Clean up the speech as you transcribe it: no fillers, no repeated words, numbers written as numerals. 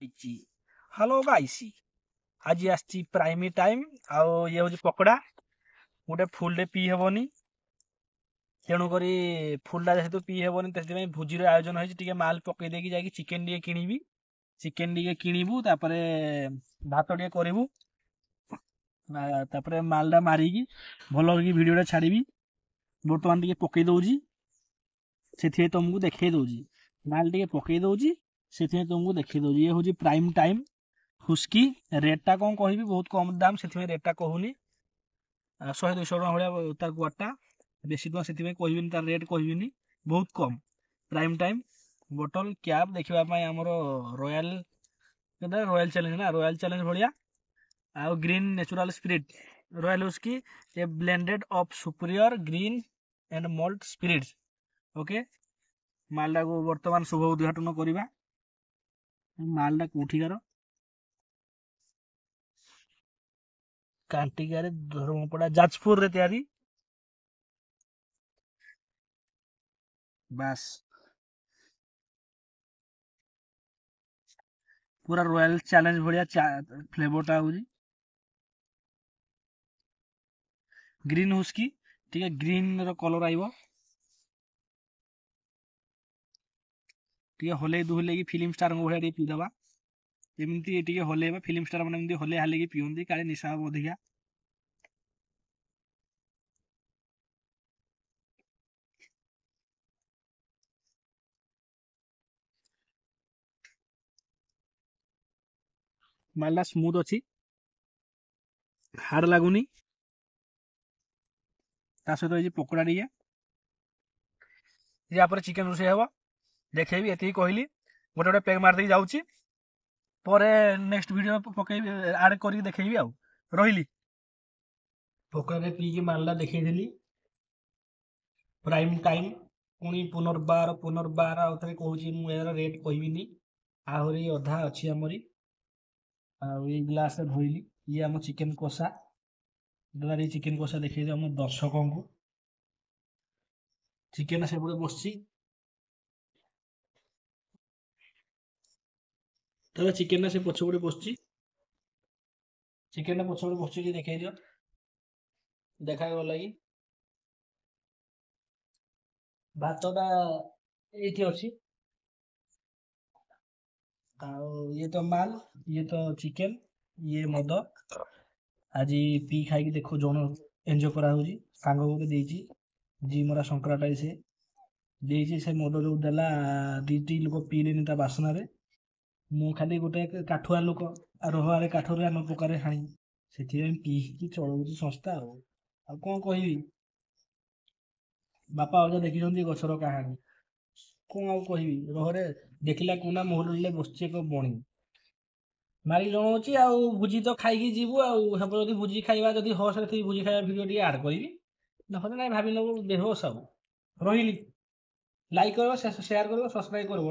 Hello guys, ଆଜି ଆସିଛି ପ୍ରାଇମି time. ଆଉ ଇଏ ହେଉଛି ପକୋଡ଼ା। ଗୋଟେ ଫୁଲରେ ପିଇ ହେବନି, ତେଣୁକରି ଫୁଲଟା ଯେହେତୁ ପିଇ ହେବନି, ସେଥିପାଇଁ ଭୋଜିର ଆୟୋଜନ ହେଇଛି। ଟିକେ ମାଲ ପକେଇ ଦେଇକି ଯାଇକି ଚିକେନ ଟିକେ କିଣିବି। ଚିକେନ ଟିକେ କିଣିବୁ, ତାପରେ ଭାତ ଟିକେ କରିବୁ, ତାପରେ ମାଲଟା ମାରିକି ଭଲ କରିକି ଭିଡ଼ିଓଟା ଛାଡ଼ିବି। ବର୍ତ୍ତମାନ ଟିକେ ପକେଇ ଦଉଛି, ସେଥିପାଇଁ ତମକୁ ଦେଖେଇ ଦଉଛି। ମାଲ ଟିକେ ପକେଇ ଦଉଛି, ସେଥିପାଇଁ ତମକୁ ଦେଖେଇ ଦଉଛି। ଇଏ ହେଉଛି ପ୍ରାଇମ୍ ଟାଇମ୍ ହୁସ୍କି। ରେଟ୍ଟା କ'ଣ କହିବି, ବହୁତ କମ୍ ଦାମ, ସେଥିପାଇଁ ରେଟ୍ଟା କହୁନି। 100 200 ଟଙ୍କା ଭଳିଆ ତାର ଗୁଆଟା, ବେଶୀ ଟଙ୍କା ସେଥିପାଇଁ କହିବିନି, ତାର ରେଟ୍ କହିବିନି, ବହୁତ କମ୍। ପ୍ରାଇମ୍ ଟାଇମ୍ ବୋଟଲ କ୍ୟାପ୍ ଦେଖିବା ପାଇଁ ଆମର ରୟାଲ, ରୟାଲ ଚ୍ୟାଲେଞ୍ଜ ନା, ରୟାଲ ଚ୍ୟାଲେଞ୍ଜ ଭଳିଆ। ଆଉ green natural spirit royal whisky, a blended of superior green and malt spirits. Okay, ମାଲଟାକୁ ବର୍ତ୍ତମାନ ଶୁଭ ଉଦ୍ଘାଟନ କରିବା। ମାଲଟା କୋଉଠିକାର? କାଣ୍ଟିକାରେ, ଧର୍ମପଡ଼ା, ଯାଜପୁରରେ ତିଆରି। ବାସ୍, ପୁରା ରୟାଲ ଚ୍ୟାଲେଞ୍ଜ ଭଳିଆ ଫ୍ଲେଭରଟା ହଉଛି। ଗ୍ରୀନ୍ ହୁସ୍କି, ଟିକେ ଗ୍ରୀନ୍ ର କଲର ଆଇବ। ଟିକେ ହଲେଇ ଦୁହଲେଇକି ଫିଲ୍ମ ଷ୍ଟାରଙ୍କ ଭଳିଆ ଟିକେ ପିଇଦବା। ଏମିତି ଟିକେ ହଲେଇବା, ଫିଲ୍ମ ଷ୍ଟାର ମାନେ ଏମିତି ହଲେଇ ହାଲେଇକି ପିଅନ୍ତି, କାଳେ ନିଶା ହବ ଅଧିକା। ମାଲଟା ସ୍ମୁଥ ଅଛି, ହାର୍ଡ ଲାଗୁନି। ତା ସହିତ ହେଇଛି ପକୋଡ଼ା ଟିକେ। ୟା ପରେ ଚିକେନ ରୋଷେଇ ହବ, ଦେଖେଇବି। ଏତିକି କହିଲି, ଗୋଟେ ଗୋଟେ ପେକ୍ ମାରିଦେଇକି ଯାଉଛି। ପରେ ନେକ୍ସଟ ଭିଡ଼ିଓ ପକେଇବି, ଆଡ୍ କରିକି ଦେଖେଇବି। ଆଉ ରହିଲି। ପକୋଡ଼ାରେ ପିଇକି ମାଲଟା ଦେଖେଇଥିଲି ପ୍ରାଇମ୍ ଟାଇମ୍। ପୁଣି ପୁନର୍ବାର ପୁନର୍ବାର ଆଉ ଥରେ କହୁଛି, ମୁଁ ଏହାର ରେଟ୍ କହିବିନି। ଆହୁରି ଅଧା ଅଛି ଆମରି। ଆଉ ଏଇ ଗ୍ଲାସରେ ଧୋଇଲି। ଇଏ ଆମ ଚିକେନ କଷା। ଦାଦା, ଚିକେନ କଷା ଦେଖେଇଦିଅ ଆମ ଦର୍ଶକଙ୍କୁ। ଚିକେନ ସେପଟେ ବସିଛି। ଦାଦା, ଚିକେନଟା ସେ ପଛପଟେ ବସିଛି। ଚିକେନଟା ପଛପଟେ ବସିଛି, ଟିକେ ଦେଖେଇ ଦିଅ। ଦେଖାଗଲା କି? ଭାତଟା ଏଇଠି ଅଛି। ଆଉ ଇଏ ତ ମାଲ, ଇଏ ତ ଚିକେନ, ଇଏ ମଦ। ଆଜି ପିଇ ଖାଇକି ଦେଖ ଜଣ ଏନ୍ଜୟ କରାହଉଛି। ସାଙ୍ଗ ଗୋଟେ ଦେଇଛି, ଜି ମରା ଶଙ୍କରାଟା ସେ ଦେଇଛି। ସେ ମଦ ଯୋଉ ଦେଲା, 2ଟି ଲୋକ ପିଇଲେନି ତା ବାସନାରେ। ମୁଁ ଖାଲି ଗୋଟେ କାଠୁଆ ଲୋକ, ରହରେ କାଠରେ ଆମ ପ୍ରକାରେ ହାଣି, ସେଥିପାଇଁ ପିଇକି ଚଳଉଛି ସଂସ୍ଥା। ଆଉ କ'ଣ କହିବି? ବାପା ଅଜା ଦେଖିଛନ୍ତି ଗଛର କାହାଣୀ, କ'ଣ ଆଉ କହିବି? ରହରେ ଦେଖିଲା କୁନା ମହୁଲରେ ବସିଛି ଏକ ବଣି। ମାରିକି ଜଣାଉଛି। ଆଉ ଭୋଜି ତ ଖାଇକି ଯିବୁ। ଆଉ ହେବ ଯଦି ଭୋଜି ଖାଇବା, ଯଦି ହୋସରେ ଥିବି ଭୋଜି ଖାଇବା ଭିଡ଼ିଓ ଟିକେ ଆଡ଼୍ କରିବି, ନହେଲେ ନାଇଁ, ଭାବି ନେବୁ ବେହୋସ। ଆଉ ରହିଲି। ଲାଇକ୍ କରିବ, ସେୟାର କରିବ, ସବସ୍କ୍ରାଇବ୍ କରିବ।